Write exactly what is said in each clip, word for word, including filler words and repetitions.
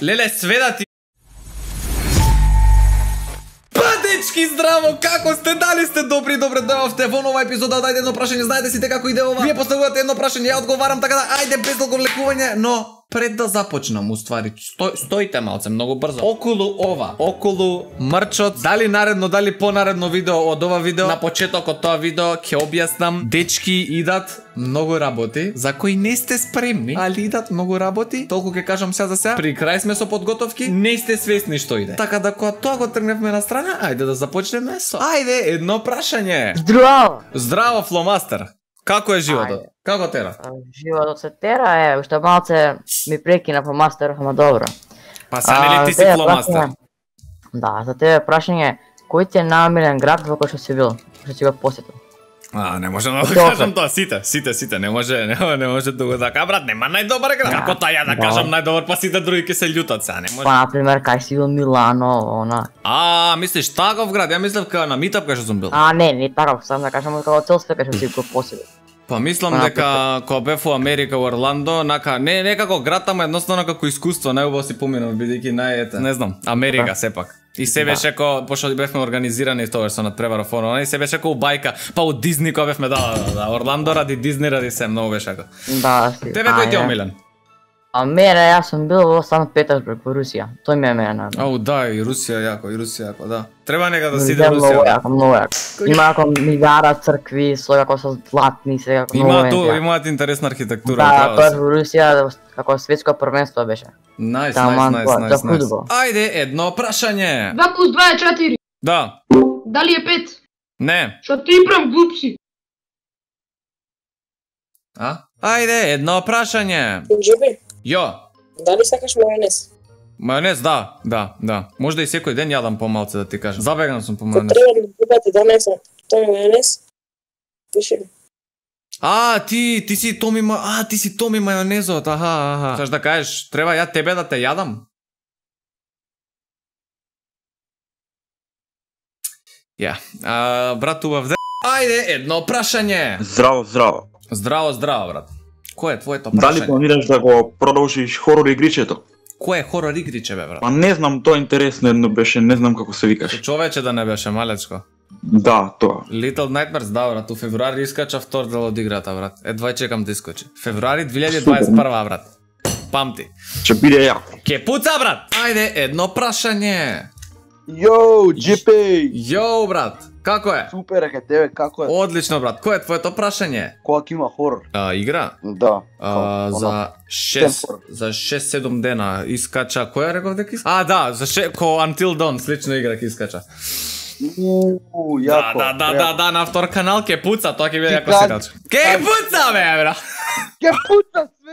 Леле, сведа ти. Дечки, здраво, како сте? Дали сте добри? Добре дојавте во нова епизода. Дајте едно прашање, знаете сите како иде ова. Вие поставувате едно прашање, ја одговарам, така да ајде без долго влекување, но пред да започнам, уствари, сто, стоите малце, многу брзо. Околу ова, околу мрчот, дали наредно, дали понаредно видео од ова видео, на почетокот тоа видео ќе објаснам, дечки идат многу работи, за кои не сте спремни, али идат многу работи, толку ќе кажам сега за сега. При крај сме со подготовки, не сте свесни што иде. Така да кога тоа го тргневме на страна, ајде да започнеме со. Ајде, едно прашање. Здраво! Здраво, Фломастер. Како е животот? Ајде. Како тера? Животот се тера е, уште малце ми прекина по мастер, ама добро. Па са нели ти си Фломастер? Да, за тебе прашање, кој ти е најомилен град во кој што си бил, што си го посетил? А, не може да кажам тоа, сите, сите, сите, не може, не, не може да го така, брат, нема најдобар град. Како тоа ја да кажам најдобар, па сите други ќе се љутат сега, не може. Па, например, кај си бил Милано, она. А, мислиш таков град? Ја мислев кај на митап кај што сум бил. А, не, не таков, сам да кажам како цел све кај што си го посетил. Па мислам дека кога бев во Америка во Орландо, нака не не како град, ама едноставно како искуство, најубаво си поминав бидејќи најете, не знам, Америка сепак. И се беше ко пошто бевме организирани тоа со надпревара фоно, и се беше ко бајка, па од Дизни кога бевме да, да, да, Орландо ради Дизни ради се многу беше како. Да, си. Тебе кој ти е омилен? А мене, јас сум бил во Санкт Петербург во Русија. Тој ми е мене. Ау, да, и Русија јако, и Русија јако, да. Треба нека да си иде Русија. Русија. Јако, многу јако. Има како милиара цркви, со како со златни, се како многу. Има тоа, имаат интересна архитектура. Да, тоа во Русија како светско првенство беше. Најс, најс, најс, најс. Ајде, едно прашање. два плюс два е четири. Да. Дали е пет? Не. Што ти прам глуп си? А? Ајде, едно прашање. Джеби, Јо. дали сакаш мајонез? Мајонез, да, да, да. Можда и секој ден јадам помалце да ти кажам. Забеган сум по мајонез. Треба да добате донесам тој мајонез. Пиши ми. А, ти, ти си Томи, ма... а, ти си Томи мајонезот, аха, аха. Саш да кажеш, треба ја тебе да те јадам? Ја, а, брат убав де... Ајде, едно прашање. Здраво, здраво. Здраво, здраво, брат. Кој е твоето Дали прашање? планираш да го продолжиш хорор игричето? Кој е хорор игриче, бе, брат? Па не знам, тоа интересно едно беше, не знам како се викаш. Човече да не беше малечко. Да, тоа. Little Nightmares, да, брат, у февруари искача втор дел од играта, брат. Едва чекам да искочи. Февруари две илјади дваесет и прва, брат. Памти. Ќе биде јако. Ке пуца, брат! Ајде, едно прашање. Йоу, Джипи! Јоу, брат, како е? Супер е кај тебе, како е? Одлично, брат. Кој е твоето прашање? Кога ќе има хорор? А, игра? Да. А, за шест за шест седум дена искача. Која реков дека искача? А, да, за ше... ко Until Dawn слично игра ќе искача. Уу, Да, јако. да, да, да, да, на втор канал ќе пуца, тоа ќе биде Ти јако кад- серијалче. Ке пуца, бе, бра. Ке пута све,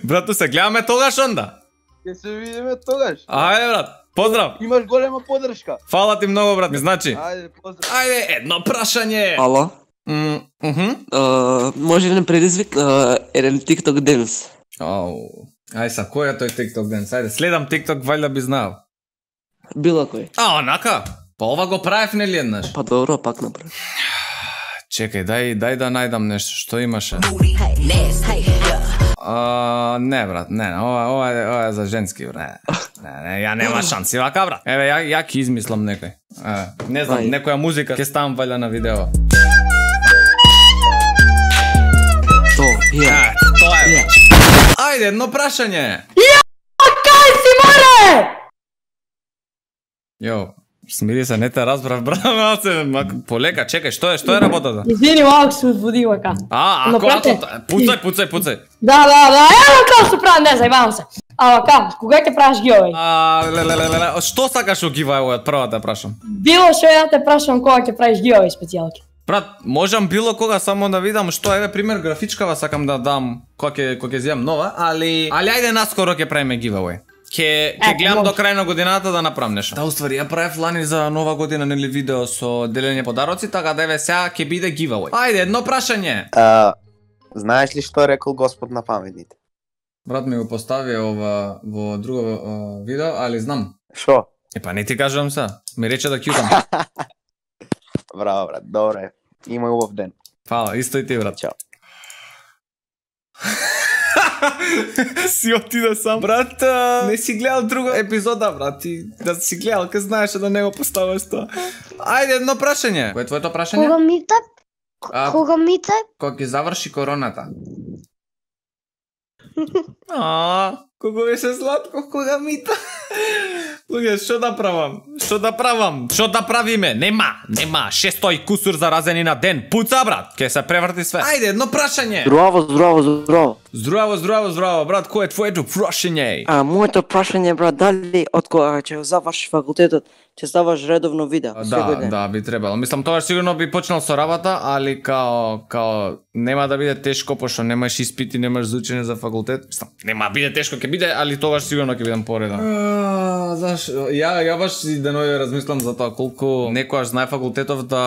Брату, се гледаме тогаш онда. ќе се видиме тогаш. Ајде, брат. Поздрав. Имаш голема поддршка. Фала ти многу, брат, ми значи. Ајде, поздрав. Ајде, едно прашање. Ало, М, мхм. а, може ли не предизвик а, еден TikTok денс? Ау. Ај са, кој е тој TikTok ден? Ајде, следам TikTok, вајда би знал. Било кој. А, онака? Па ова го правев нели еднаш? Па добро, пак направи. Чекај, дај, дај да најдам нешто, што имаше? А, не, брат, не, ова, ова, е- ова е за женски, брат. Не, не, ја нема шанси вака, брат. Еве, ја, ја ќе измислам некој. Е, не знам, Ај. некоја музика, ќе ставам вајда на видео. То, ја. Е, тоа е. Ја. Ајде, едно прашање. Јо, смири се, не те разбрав, брат, малце, мак- полека, чекај, што е, што е работата? Извини, малко се uzbudила ка. А, Но, ако, брате, ако, пуцај, пуцај, пуцај. Да, да, да, ево како се прави, не зајбавам се. Ама ка, кога ќе правиш гиовеј? А, леле, леле, леле, што сакаш у giveaway од прва те прашам? Било што ја те прашам кога ќе правиш гиовеј специјалки. Брат, можам било кога само да видам што еве пример графичкава сакам да дам кога ќе кога ќе земам нова, али али ајде наскоро ќе правиме giveaway. Ќе ќе Е, гледам може. до крај на годината да направам нешто. Да, уствари ја правев лани за нова година нели видео со делење подароци, така да еве сега ќе биде giveaway. Ајде, едно прашање. А, знаеш ли што е рекол Господ на паметните? Брат ми го постави ова во друго а, видео, али знам. Шо? Е па не ти кажувам се. Ми рече да кјутам. Браво, брат, добре. Имај убав ден. Фала, исто и ти, брат. Чао. Си отиде сам. Брат, а, не си гледал друга епизода, брат. Ти да си гледал, ке знаеше да не го поставаш тоа. Ајде, едно прашање. Кој е твоето прашање? Кога мита? А, Кога мита? Кога ќе заврши короната. А, кога беше сладко, кога мита. Луѓе, што да правам? Што да правам? Што да правиме? Нема, нема. шестој кусур заразени на ден. Пуца, брат. Ке се преврти све. Ајде, едно прашање. Здраво, здраво, здраво. Здраво, здраво, здраво, брат. Кој е твоето прашање? А, моето прашање, брат, дали од кога ќе завршиш факултетот, ќе ставаш редовно видео? Да, да, би требало. Мислам, тогаш сигурно би почнал со работа, али као, као, нема да биде тешко, пошто немаш испити, немаш за учење за факултет. Мислам, нема биде тешко, ќе биде, али тогаш сигурно ќе бидам пореден. Заш, ја, ја баш и денови размислам за тоа колку некојаш знае факултетов да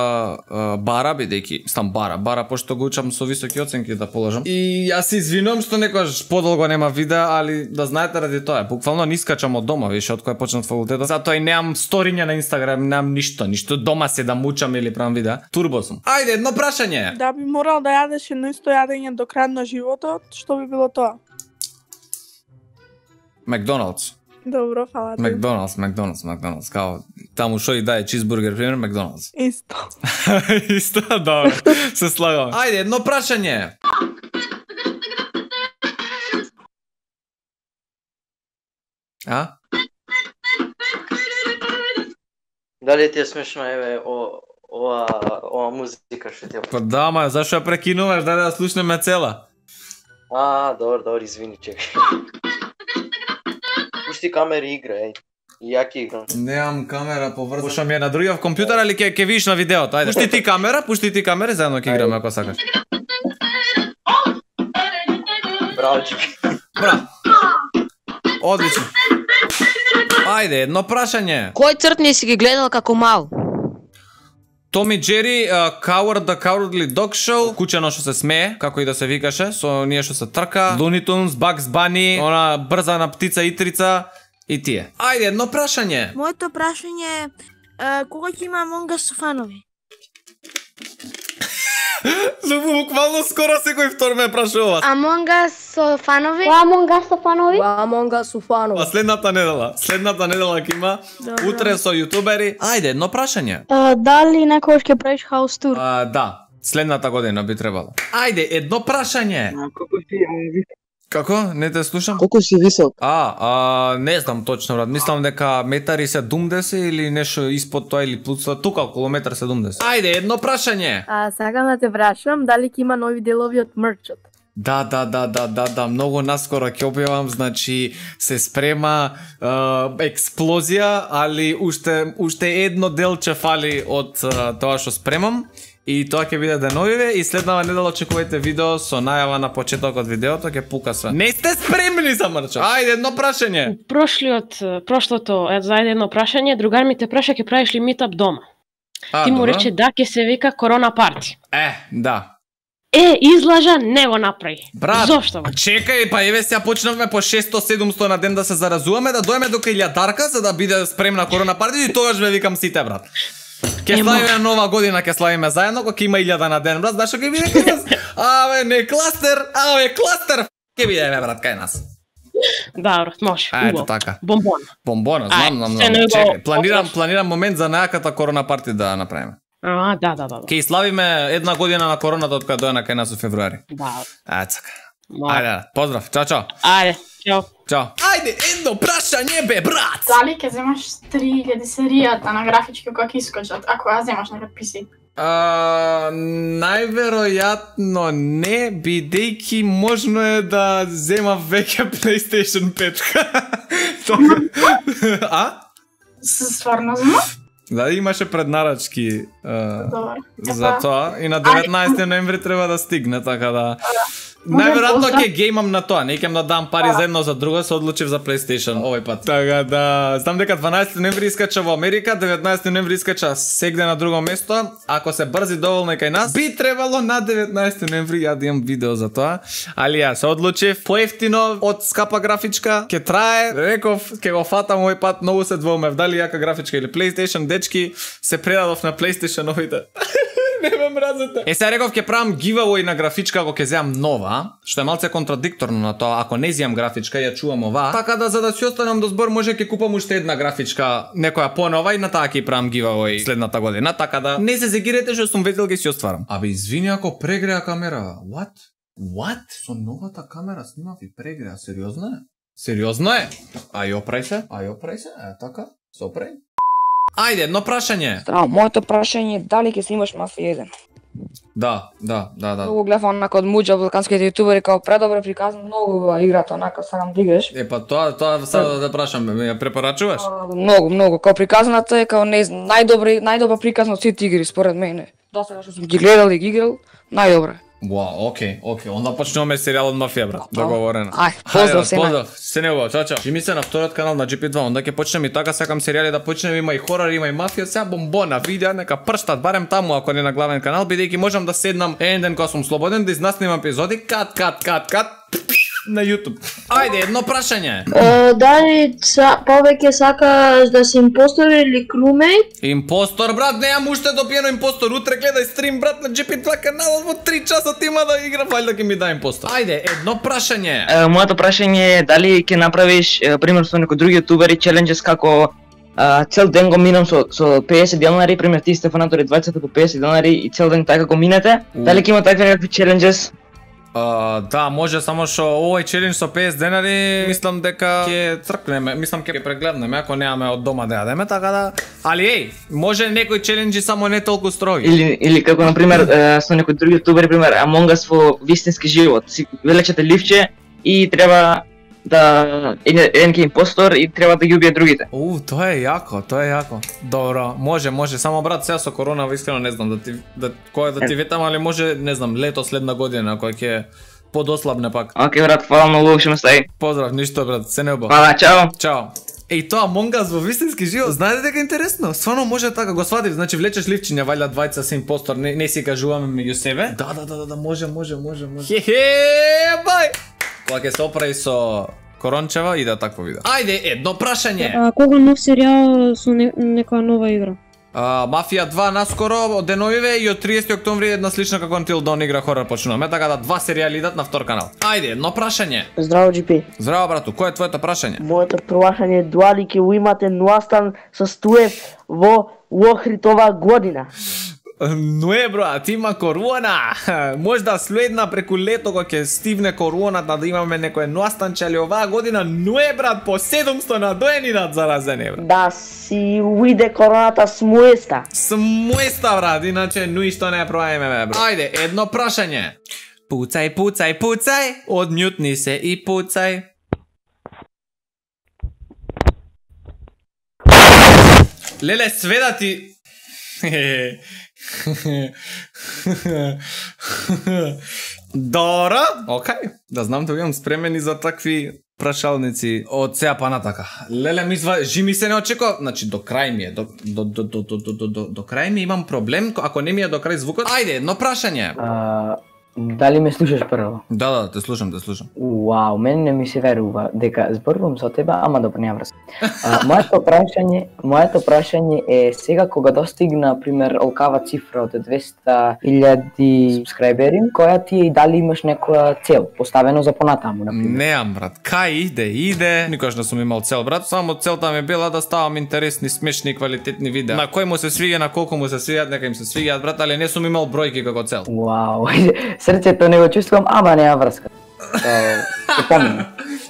а, бара, бидејќи, мислам бара, бара, пошто го учам со високи оценки да положам. И јас се извинувам што некојаш подолго нема видеа, али да знаете ради тоа, буквално не искачам од дома, више, од кој почнат факултетот. Затоа и немам сториња на Инстаграм, немам ништо, ништо дома се да мучам или правам видеа. Турбо сум. Ајде, едно прашање. Да би морал да јадеш едно исто јадење до крај на животот, што би било тоа? Макдоналдс. Добро, фала ти. Макдоналдс, Макдоналдс, Макдоналдс, као таму шо и дае чизбургер, пример, Макдоналдс. Исто. Исто, добро, се слагам. Ајде, едно прашање. А? Дали ти е смешно, еве, о, ова, ова музика што ти е? Па да, ма, зашо ја прекинуваш, дај да слушнеме цела. А, добро, добро, извини, чекай. Пушти камери игра, еј. И ја ќе играм. Немам камера поврзана. Пушам ја на другиот компјутер, али ќе ќе видиш на видеото. Ајде. Пушти ти камера, пушти ти камера, заедно ќе играме ако сакаш. Браво, Джиби. Браво. Одлично. Ајде, едно прашање. Кој цртни си ги гледал како мал? Том и Джери, uh, Coward the Cowardly Dog Show, кучено што се смее, како и да се викаше, со ние што се трка, Looney Tunes, Bugs Bunny, она брзана птица Итрица и тие. Ајде, едно прашање. Моето прашање е uh, кога ќе има Among Us со фанови? Буквално скоро секој втор ме прашува. Among Us со фанови? Among Us со фанови? Among Us со фанови. А следната недела, следната недела ќе има утре со јутубери. Ајде, едно прашање. Uh, дали некојаш ќе правиш хаус тур? А, да, следната година би требало. Ајде, едно прашање. Колку ти е? Како? Не те слушам? Колку си висок? А, а, не знам точно, брат. Мислам дека метари седумдесет или нешто испод тоа или плюс тоа, тука околу метар седумдесет. Ајде, едно прашање. А, сакам да те прашам дали ќе има нови делови од мерчот. Да, да, да, да, да, да, многу наскоро ќе објавам, значи се спрема е, експлозија, али уште уште едно делче фали од е, тоа што спремам. И тоа ќе биде деновиве и следнава недела очекувајте видео со најава на почетокот видеото, ќе пука све. Не сте спремни за мрчот. Ајде, едно прашање. Прошлиот, прошлото, е, зајде едно прашање, другар ми те праша ќе правиш ли митап дома? А, Ти му добро. рече да, ќе се вика корона парти. Е, да. Е, излажа, не го направи. Брат, Зошто? Бе? чекај, па еве сега почнавме по шесто седумсто на ден да се заразуваме, да дојме до илјадарка за да биде спремна корона парти и тогаш ве викам сите, брат. Ке славиме нова година, ке славиме заедно, кога ќе има илјада на ден, брат, знаеш што ќе биде кај нас? Абе, не кластер, абе, кластер, ќе биде, бе, брат, кај нас. Да, брат, може. А, ето убаво. така. Бомбон. Бомбона, знам, знам, се знам. не го Чекај, планирам, отваш. планирам момент за најаката корона парти да направиме. А, да, да, да. да. Ќе славиме една година на короната од кога дојна кај нас во февруари. Да. Ето така. Може. Ајде, поздрав, чао, чао. Ајде, чао. Чао. Ајде, едно прашање, бе, брат! Дали ќе земаш три илјади серијата на графички кога ќе искочат, ако ја земаш на пи си? А, најверојатно не, бидејќи можно е да зема веќе PlayStation пет. А? Стварно зема? Да, имаше преднарачки а, Добро. за тоа и на деветнаесети ноември треба да стигне, така да... Најверојатно поздрав. ќе геймам на тоа, не ќе да дам пари за едно за друго, се одлучив за PlayStation овој пат. Така да, знам дека дванаесети ноември искача во Америка, деветнаесети ноември искача сегде на друго место. Ако се брзи доволно и кај нас, би требало на деветнаесети ноември ја да имам видео за тоа. Али ја се одлучив поевтино од скапа графичка, ќе трае, реков, ќе го фатам овој пат, многу се двоумев дали јака графичка или PlayStation, дечки, се предадов на PlayStation овите. Не ме мразите. Е, сега реков ќе правам giveaway на графичка ако ќе земам нова, што е малце контрадикторно на тоа. Ако не земам графичка, ја чувам ова. Така да за да си останам до збор, може ќе купам уште една графичка, некоја понова и на таа ќе правам giveaway следната година. Така да не се зегирете што сум ветил ќе си остварам. Абе извини ако прегреа камера. What? What? Со новата камера снимав и прегреа, сериозно е? Сериозно е? Ај опрај се? Ај опрај се? Е така? Се опрај? Ајде, едно прашање. Здраво, моето прашање е дали ќе снимаш Мафија еден? Да, да, да, да. Многу гледав онака од Муџа, балканските јутубери, као предобро приказан, многу убава играта, онака сакам да играш. Е, па тоа, тоа сега да прашам, ме ја препорачуваш? Многу, многу, као приказаната е као не знам, најдобра, најдобра приказна од сите игри според мене. Досега што сум ги гледал и ги играл, најдобра. Вау, окей, окей. Онда почнуваме серијалот Мафија, брат. Договорено. Ај, поздрав се. Поздрав. Се не убаво, чао, чао. Жими се на вториот канал на джи пи два. Онда ќе почнеме и така, сакам серијали да почнеме, има и хорор, има и мафија, сега бомбона, видеа, нека прштат барем таму ако не на главен канал, бидејќи можам да седнам еден ден кога сум слободен да изнаснимам епизоди, кат, кат, кат, кат на YouTube. Ајде, едно прашање. Дали повеќе сакаш да си импостор или crewmate? Импостор, брат, неам уште допиено импостор. Утре гледај стрим, брат, на джи пи два каналот во три часа има да игра, валјда ќе ми да импостор. Ајде, едно прашање. Моето прашање е дали ќе направиш пример со некои други јутубери челенџес како цел ден го минам со со песет денари, пример ти Стефанатори двајцет по песет денари и цел ден така го минете. Дали ќе има такви некакви челенџес? Uh, да, може, само што овој челендж со песет денари, мислам дека ќе цркнеме, мислам ќе прегледнеме ако немаме од дома да јадеме, така да. Али еј, може некои челенџи само не толку строги. Или или како на пример со некои други јутубери, пример Among Us во вистински живот. Си велечете ливче и треба да еден ке импостор и треба да ги убие другите. У, тоа е јако, тоа е јако. Добро, може, може, само брат сега со корона искрено не знам да ти да кој да ти ветам, али може, не знам, лето следна година кој ќе подослабне пак. Океј брат, фала многу, ше ме стаи. Поздрав, ништо брат, се не убаво. Фала, чао. Чао. Еј, тоа Among Us во вистински живот, знаете дека е интересно? Стварно може така, го сватив, значи влечеш ливчиња, вајда двајца се импостор, не, не си кажуваме меѓу себе. Да, да, да, да, може, може, може, може. Хе-хе, бај. Кога ќе се оправи со Корончева и да такво видео. Ајде, едно прашање. А кога нов серијал со не, некоја нова игра? А, Мафија два наскоро од деновиве и од триесети октомври една слична како Until Dawn игра хорор почнуваме, така да два серијали идат на втор канал. Ајде, едно прашање. Здраво, джи пи. Здраво, брату, кој е твоето прашање? Моето прашање е дали ќе имате Ноастан со Стуев во Охрид оваа година? Не, брат, има корона. Можда следна преку лето кога ќе стивне короната да имаме некој Ноастанче, али оваа година не, брат, по седумсто надоени над заразени, брат. Да си уиде короната смуеста. Смуеста, брат, иначе ништо не проајме, брат. Ајде, едно прашање. Пуцај, пуцај, пуцај, одмјутни се и пуцај. Леле, сведа ти... Добро, окей, да знам да имам спремени за такви прашалници од сега па натака. Леле, мисла, жими се не очекува, значи до крај ми е, до до до до до до до до крај ми имам проблем, ако не ми е до крај звукот. Ајде, едно прашање. Дали ме слушаш прво? Да, да, те слушам, те слушам. Уау, мене не ми се верува дека зборувам со тебе, ама добро, нема врска. Моето прашање, моето прашање е сега кога достигна, пример, олкава цифра од двесте илјади субскрајбери, која ти е и дали имаш некоја цел поставено за понатаму, на пример? Неам, брат. Кај иде, иде. Никош не сум имал цел, брат. Само целта ми била да ставам интересни, смешни, квалитетни видеа. На кој му се свиѓа, на колку му се свиѓаат, нека им се свиѓаат, брат, али не сум имал бројки како цел. Вау. Срцето не го чувствувам, ама нема врска. Се помнам.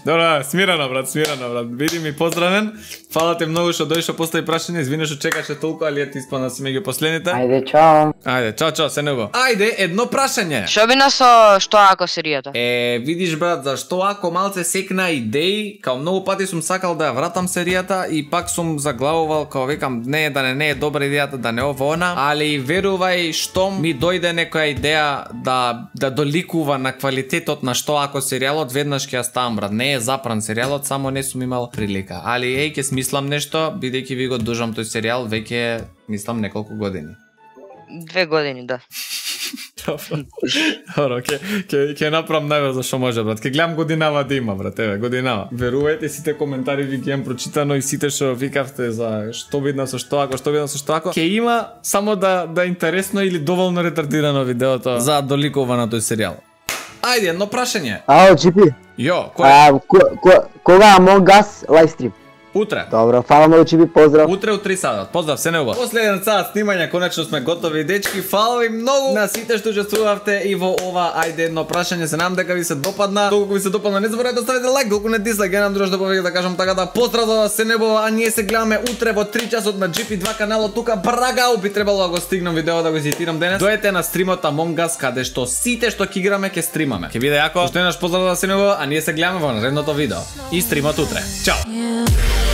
Добра, смирано, брат, смирано, брат. Биди ми поздравен. Фала ти многу што дојшо постави прашање. Извини што чекаше толку, али ти испана си меѓу последните. Ајде, чао. Ајде, чао, чао, се небо. Ајде, едно прашање. Што бина со што ако серијата? Е, видиш, брат, зашто ако малце секна идеи, као многу пати сум сакал да ја вратам серијата и пак сум заглавувал, као викам, не, да не, не е добра идејата, да не ово она, али верувај, штом ми дојде некоја идеја да да доликува на квалитетот на што ако серијалот, веднаш ќе ја ставам, брат. Не е запран серијалот, само не сум имал прилика. Али еј, ќе смислам нешто, бидејќи ви го дужам тој серијал веќе мислам неколку години. Две години, да. Добро, ќе ќе ќе направам најбрзо што може, брат. Ќе гледам годинава да има, брат, еве, годинава. Верувајте, сите коментари ви ги имам прочитано и сите што викавте за што видно со што ако, што видно со што ако, ќе има само да да е интересно или доволно ретардирано видеото за доликува на тој серијал. Ајде, едно прашање. Ао, Джипи. Јо, кој? А, ко- ко- кога Among Us лайвстрим? Утре. Добро, фала многу, Джипи, поздрав. Утре у три саат. Поздрав, се неубаво. После еден саат снимање, конечно сме готови, дечки. Фала ви многу на сите што учествувавте и во ова ајде едно прашање. Се надам дека ви се допадна. Толку ви се допадна, не заборавајте да ставите лайк, толку не дислайк. Ја нам друж да повеќе да кажам така да поздрав за се неубаво, а ние се гледаме утре во три часот на Джи Пи два каналот тука. Брагау би требало да го стигнам видео да го изедитирам денес. Дојдете на стримот Among Us каде што сите што ќе играме ќе стримаме. Ќе биде јако. Уште еднаш поздрав за се неубаво, а ние се гледаме во наредното видео и стримот утре. Чао.